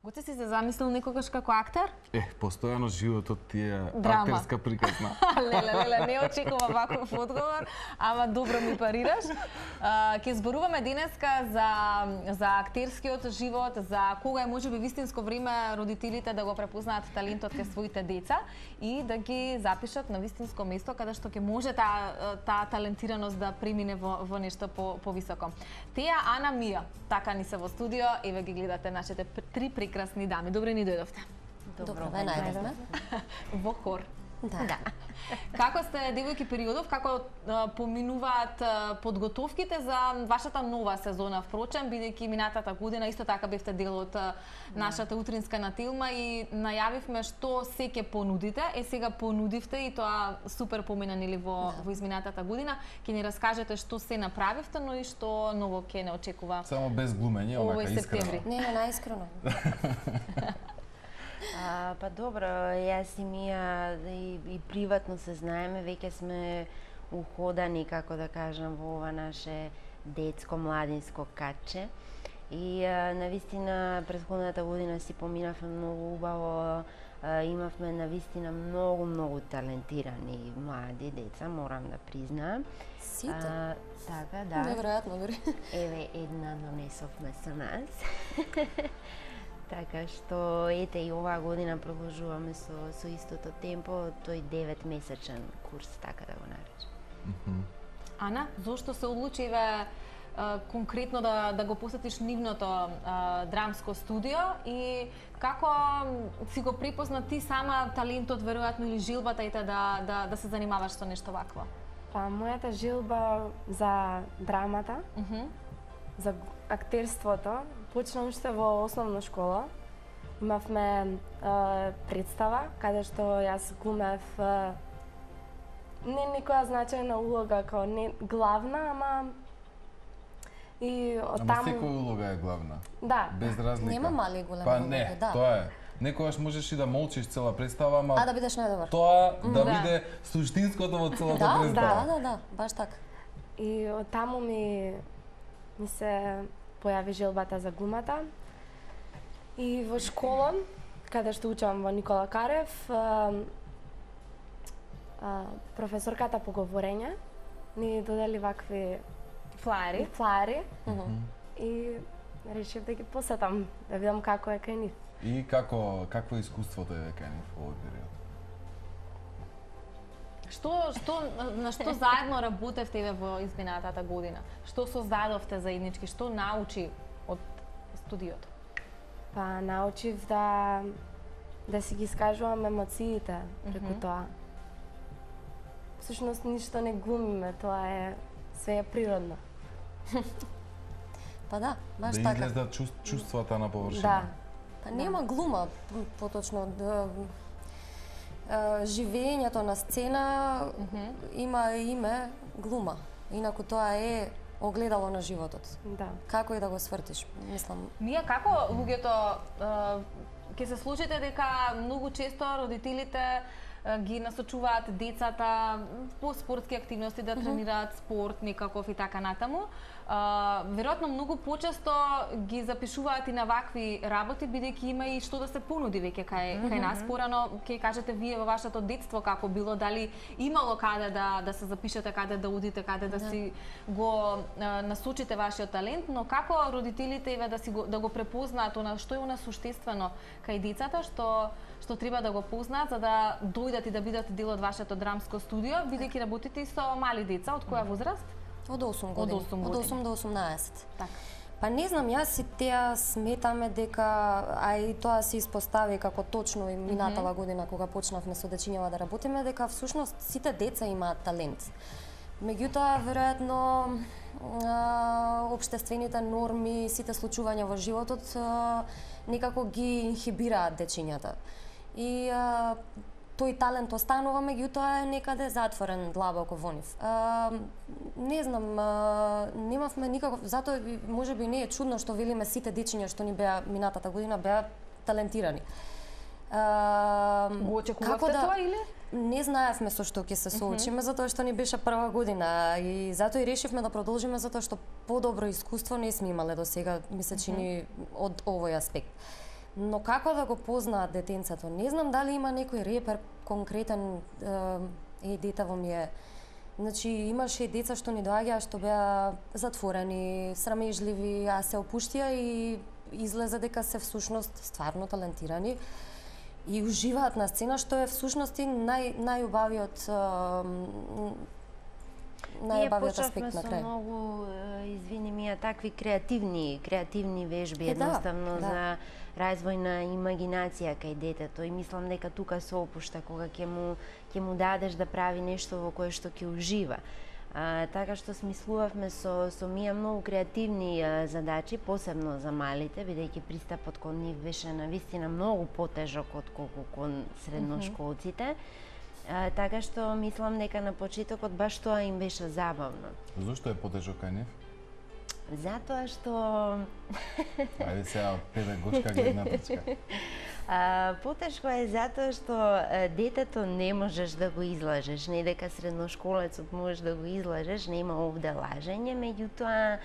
Гоце си се замислил некогаш како актер? Постојано животот ти е Драма. актерска приказна. Леле, не очекувам ваков одговор, ама добро ми парираш. Ќе зборуваме денеска за актерскиот живот, за кога е можеби вистинско време родителите да го препознаат талентот кај своите деца и да ги запишат на вистинско место каде што ќе може таа талентираност да премине во нешто повисоко. Теја Ана Мија, така ни се во студио, еве ги гледате нашите три прекрасни дами. Добре ни дојдовте. Добро ве најдовме. Во хор. Да. Како сте девојки периодов, како поминуваат подготовките за вашата нова сезона? Впрочем, бидејќи минатата година исто така бевте дел од нашата утринска натилма и најавивме што се ќе понудите. Сега понудивте и тоа супер помина нели во изминатата година. Ќе ни раскажете што се направивте, но и што ново ќе не очекува. Само без глумење, онака искрено. Не, најискрено. Па добро, јас и Мија и приватно се знаеме, веќе сме уходани, како да кажам, во ова наше детско-младинско каче. И навистина претходната година си поминавме многу убаво, имавме навистина многу талентирани млади деца, морам да признаам. Сите? Така, да. Неверојатно дори. Еве една донесовме со нас. Така што ете и оваа година продолжуваме со истото темпо, тој 9-месечен курс, така да го наречем. Ана, зошто се одлучи еве конкретно да го посетиш нивното драмско студио и како си го препозна ти сама талентот веројатно или жилбата ете да се занимаваш со нешто вакво? Па мојата жилба за драмата, за актерството, почна уште во основна школа. Имавме представа каде што јас глумев не некоја значајна улога како не главна, ама и оттаму... Ама секоја улога е главна. Да. Без разлика. Нема мали и големи Па улоги, не, да. тоа е. Некогаш можеш и да молчиш цела представа, ама Да бидеш најдобар. тоа да биде суштинското во целата представа. Да, баш така. И оттаму ми се појави желбата за глумата. И во школа, каде што учам во Никола Карев, професорката по говорење ни додели вакви флаери и решив да ги посетам, да видам како е кај нив. И какво е искуството е кај нив во овој период? На што заедно работевте еве во изминатата година? Што создадовте заеднички? Што научи од студиото? Па научив да си ги искажувам емоциите преку тоа. Всушност ништо не глумиме, тоа е све е природно. Па да, баш да така. Да излезат чувствата на површина. Да. Па нема глума, поточно живењето на сцена има име глума. Инаку тоа е огледало на животот. Да. Како и да го свртиш, мислам. Мија, како луѓето ќе се случите дека многу често родителите ги насочуваат децата по спортски активности да тренираат спорт некаков и така натаму. Веројатно многу почесто ги запишуваат и на вакви работи, бидејќи има и што да се понуди веќе кај нас. Порано ќе кажете вие во вашето детство како било, дали имало каде да се запишете, каде да одите, каде да си го насочите вашиот талент, но како родителите еве да го препознаат што е она суштествено кај децата што треба да го познаат за да дојдат и да бидат дел од вашето драмско студио, бидејќи работите и со мали деца, од која возраст? Од 8 години. Од 8 до 18. Така. Па не знам, јас и теа сметаме дека, а и тоа се испостави како точно и минатава година кога почнавме со дечињава да работиме, дека всушност сите деца имаат талент. Меѓутоа, веројатно, општествените норми, сите случувања во животот некако ги инхибираат дечињата. И тој талент останува, меѓутоа е некаде затворен длабоко во нив. Не знам, немавме никаков, затоа можеби не е чудно што велиме сите дечиња што ни беа минатата година беа талентирани. Го очекувавте тоа или? Не знаевме со што ќе се соочиме, затоа што ни беше прва година и затоа и решивме да продолжиме, затоа што подобро искуство не сме имале до сега, ми се чини од овој аспект. Но како да го познаат детенцето? Не знам дали има некој репер конкретен, детево ми е. Значи, имаше и деца што ни доаѓаа, што беа затворени, срамежливи, а се опуштија и излезе дека се всушност стварно талентирани и уживаат на сцена, што е всушност и најубавиот аспект на крај. Ние почнавме со многу, извини ми, такви креативни вежби, едноставно за развој на имагинација кај детето и мислам дека тука се опушта кога ќе му дадеш да прави нешто во кое што ќе ужива. Така што смислувавме со Мија многу креативни задачи, посебно за малите, бидејќи пристапот кон нив беше навистина многу потежок отколку кон средношколците. Така што мислам дека на почетокот баш тоа им беше забавно. Зошто е потежок кај нив? Затоа што... Ајде сега педагошка гледна точка. Потешко е затоа што детето не можеш да го излажеш, не дека средношколецот можеш да го излажеш, нема овде лажење, меѓутоа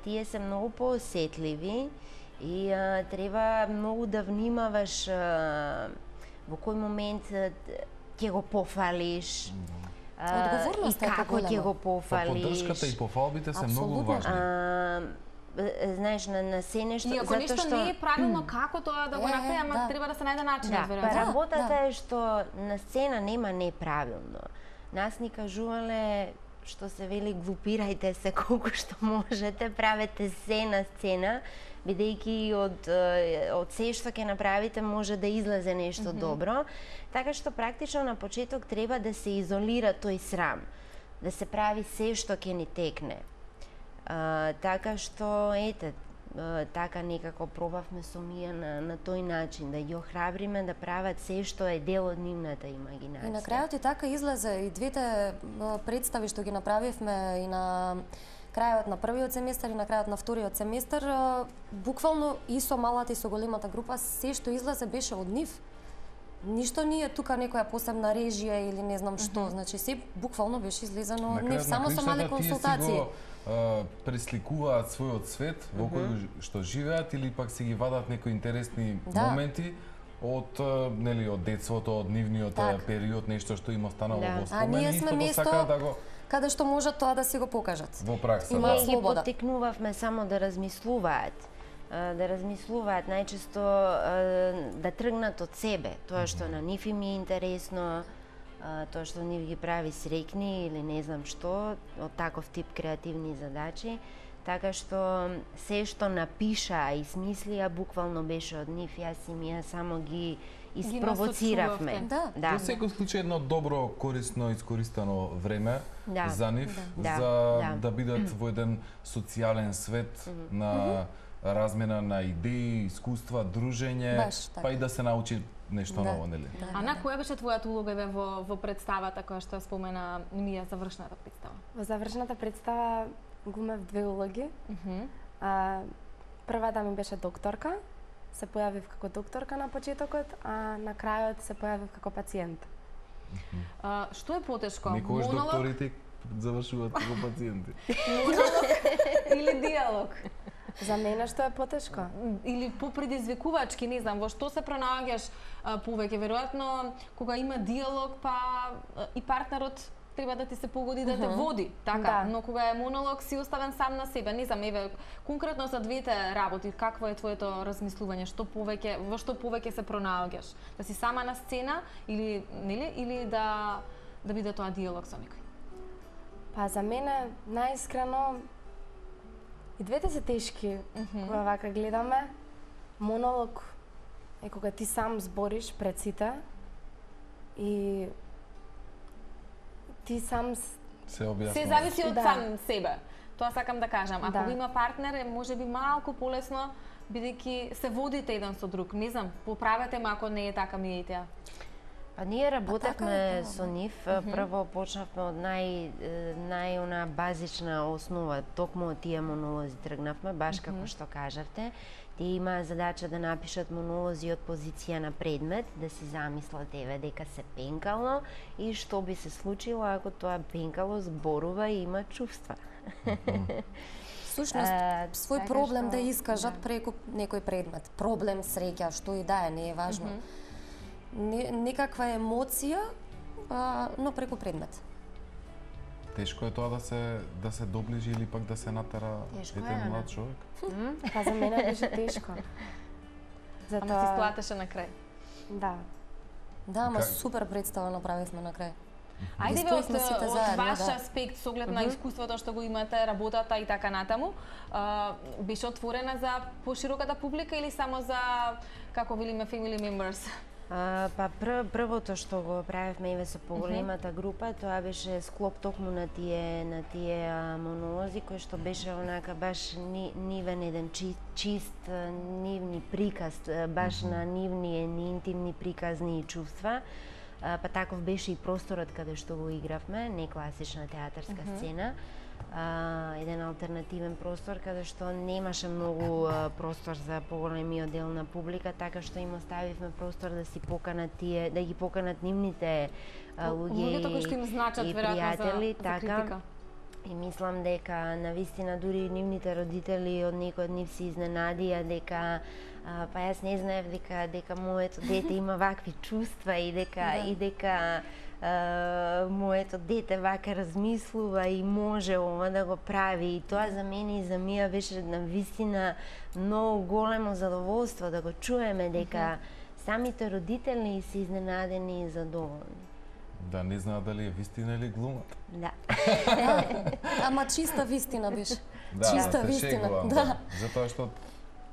тие се многу поосетливи и треба многу да внимаваш во кој момент ќе го пофалиш. Одговорноста и како ќе го пофалиш. Поддршката и пофалбите се многу важни. Знаеш, на се нешто, и ако нешто не е правилно, како тоа да го направи, ама треба да се најде начин, веројатно. Работата е што на сцена нема неправилно. Нас ни кажувале што се вели глупирајте се колку што можете, правете се на сцена, бидејќи од се што ќе направите може да излезе нешто добро. Така што практично на почеток треба да се изолира тој срам, да се прави се што ќе ни текне. Така што, така некако пробавме со Мија на тој начин, да ги охрабриме да прават се што е дел од нивната имагинација. И на крајот и така излезе и двете представи што ги направивме и на крајот на првиот семестар и на крајот на вториот семестар, буквално и со малата и со големата група, се што излезе беше од нив. Ништо не е тука некоја посебна режија или не знам што, значи се буквално беше излезено од нив, само со мали консултации. Пресликуваат својот свет во кој што живеат или пак си ги вадат некои интересни моменти од детството, од нивниот период, нешто што им останало во спомен. А ние сме место каде што можат тоа да си го покажат. Во пракса, Ние ги поттикнувавме само да размислуваат. Најчесто да тргнат од себе, тоа што на нив им е интересно, тоа што нив ги прави среќни или не знам што, од таков тип креативни задачи, така што се што напишаа и смислија буквално беше од нив, јас и Мија само ги испровоциравме. Во секој случај едно добро, корисно, искористено време за нив, за да бидат во еден социјален свет на размена на идеи, искуства, дружење, па и да се научи нешто ново, нели? Ана, која беше твојата улога во представата која што спомена Мија, завршната представа? Во завршната представа гумев две улоги. Првата ми беше докторка, се појавив како докторка на почетокот, а на крајот се појавив како пациент. Што е потешко? Некогаш докторите завршуваат како пациенти. Или диалог? За мене што е потешко? Или попредизвикувачки, не знам, во што се пронаоѓаш повеќе? Веројатно, кога има диалог, па и партнерот треба да ти се погоди да те води, така, но кога е монолог си оставен сам на себе. Не знам, еве, конкретно за двете работи, какво е твоето размислување, во што повеќе се пронаоѓаш? Да си сама на сцена или нели или да биде тоа диалог со некој? Па за мене најискрено и двете се тешки, кога вака гледаме. Монолог е кога ти сам збориш пред сите и ти сам се објаснува. Се зависи од сам себе. Тоа сакам да кажам. Ако има партнер, е можеби малку полесно, бидејќи се водите еден со друг. Не знам, поправете ме ако не е така, ми е теа. Па ние работевме со нив, прво почнавме од најона базична основа, токму од тие монолози тргнавме, баш како што кажавте. Тие имаа задача да напишат монолози од позиција на предмет, да си замислат дека се пенкало и што би се случило ако тоа пенкало зборува и има чувства. Всушност, свој проблем да искажат преку некој предмет. Проблем, среќа, што и да е, не е важно. Некаква емоција, но преку предмет. Тешко е тоа да се доближи или пак да се натера еден млад човек? Па за мене беше тешко. Ама ти сплатеше на крај. Да. Да, ама супер представа направивме на крај. Ајде бе, од ваш аспект, со оглед на искуството што го имате, работата и така натаму, беше отворена за пошироката публика или само за, како велиме, family members? Па првото што го правевме и со поголемата група, тоа беше склоп токму на тие монолози кои што беше онака баш нивен еден чист нивни приказ, баш на нивни интимни приказни и чувства. Па таков беше и просторот каде што го игравме, не класична театарска сцена. Еден алтернативен простор каде што немаше многу простор за поголемиот дел на публика, така што им оставивме простор да си поканат тие, да ги поканат нивните луѓе и пријатели, така. И мислам дека навистина дури нивните родители од некој од нив се изненадија дека па јас не знаев дека моето дете има вакви чувства и дека моето дете вака размислува и може ова да го прави. И тоа за мене и за Мија беше навистина многу големо задоволство да го чуеме дека самите родители се изненадени и задоволни. Да, не знаат дали е вистина или глумат. Да. Ама чиста вистина беше. Чиста вистина. Да. Затоа што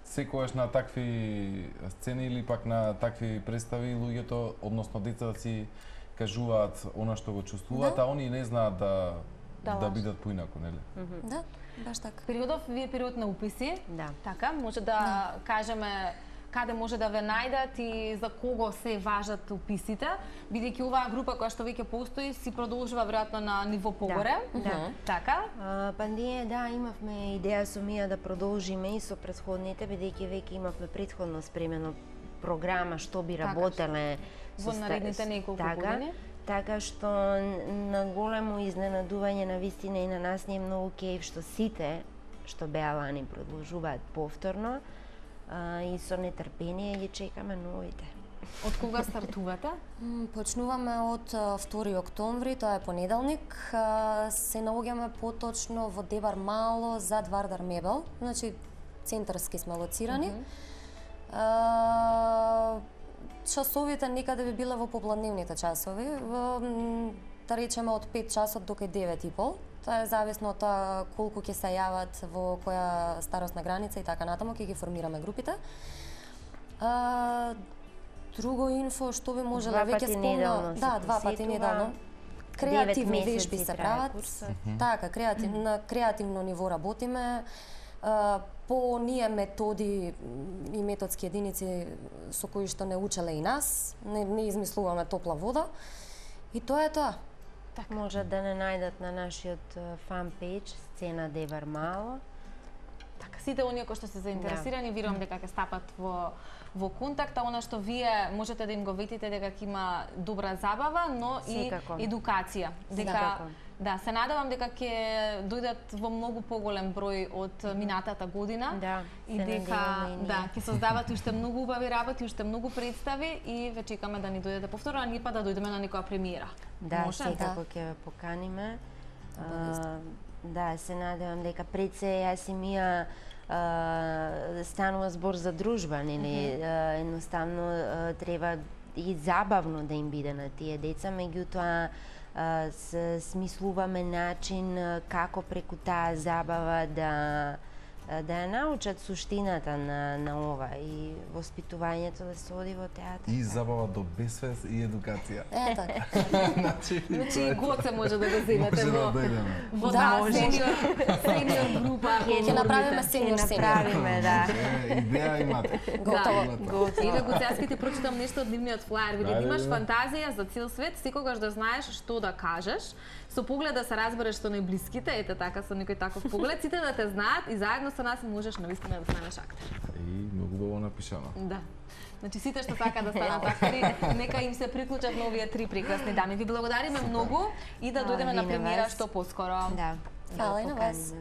секогаш на такви сцени или пак на такви представи луѓето, односно децата си кажуваат она што го чувствуваат, а они не знаат да бидат поинаку, нели? Да, баш така. Периодов ви е период на уписи. Да. Така, може да кажеме каде може да ве најдат и за кого се важат уписите, бидејќи оваа група која што веќе постои си продолжува веројатно на ниво погоре. Да. Така? Па ние имавме идеја со Мија да продолжиме и со претходните, бидејќи веќе имавме претходно спремено програма што би работеле во наредните неколку години. Така што на големо изненадување на вистина и на нас не е многу кејф што сите што беа лани продолжуваат повторно и со нетрпение ги чекаме новите. Од кога стартувате? Почнуваме од 2 октомври, тоа е понеделник. Се наоѓаме поточно во Дебар Мало зад Вардар Мебел, значи центарски сме лоцирани. Часовите некаде би биле во попладневните часови, да речеме од 5 часот до 9:30. Тоа е зависно од тоа колку ќе се јават во која старосна граница и така натаму, ќе ги формираме групите. Друго инфо што би можела веќе спомнам, да, 2 пати неделно. Креативни вежби се прават. Така, на креативно ниво работиме. По ние методи и методски единици со кои што не учеле и нас, не измислуваме топла вода. И тоа е тоа. Так. Може да не најдат на нашиот фан пејдж Сцена Дебар Мало. Така, сите оние кои што се заинтересирани, верувам дека ќе стапат во контакт, а она што вие можете да им го ветите дека ќе има добра забава, но и едукација. Дека да, се надевам дека ќе дојдат во многу поголем број од минатата година и дека ќе создават уште многу убави работи, уште многу представи и ве чекаме да ни дојдете повторно, а ние па да дојдеме на некоја премиера. Да, секако ќе поканиме. Да, се надевам дека пред се јас и Мија станува збор за дружба, нели? Едноставно треба и забавно да им биде на тие деца, меѓутоа смислуваме начин како преку таа забава да ја научат суштината на ова и воспитувањето да се оди во театар. И забава до безсвест и едукација. Така. Значи Гоце може да го земете во сениор група. Ќе направиме сениор. Да. Идеја имате. Готово. Еве Гоце, јас ќе ти прочитам нешто од нивниот флаер. Види, имаш фантазија за цел свет, секогаш да знаеш што да кажеш, со поглед да се разбереш со најблиските, ете така со некој таков поглед, сите да те знаат и заедно со нас можеш навистина да станеш актер. И многу убаво напишано. Да. Значи сите што сакаат да станат актери, нека им се приклучат на овие 3 прекрасни дами. Ви благодариме многу и да дојдеме на премиера што поскоро. Да. Фала и на вас.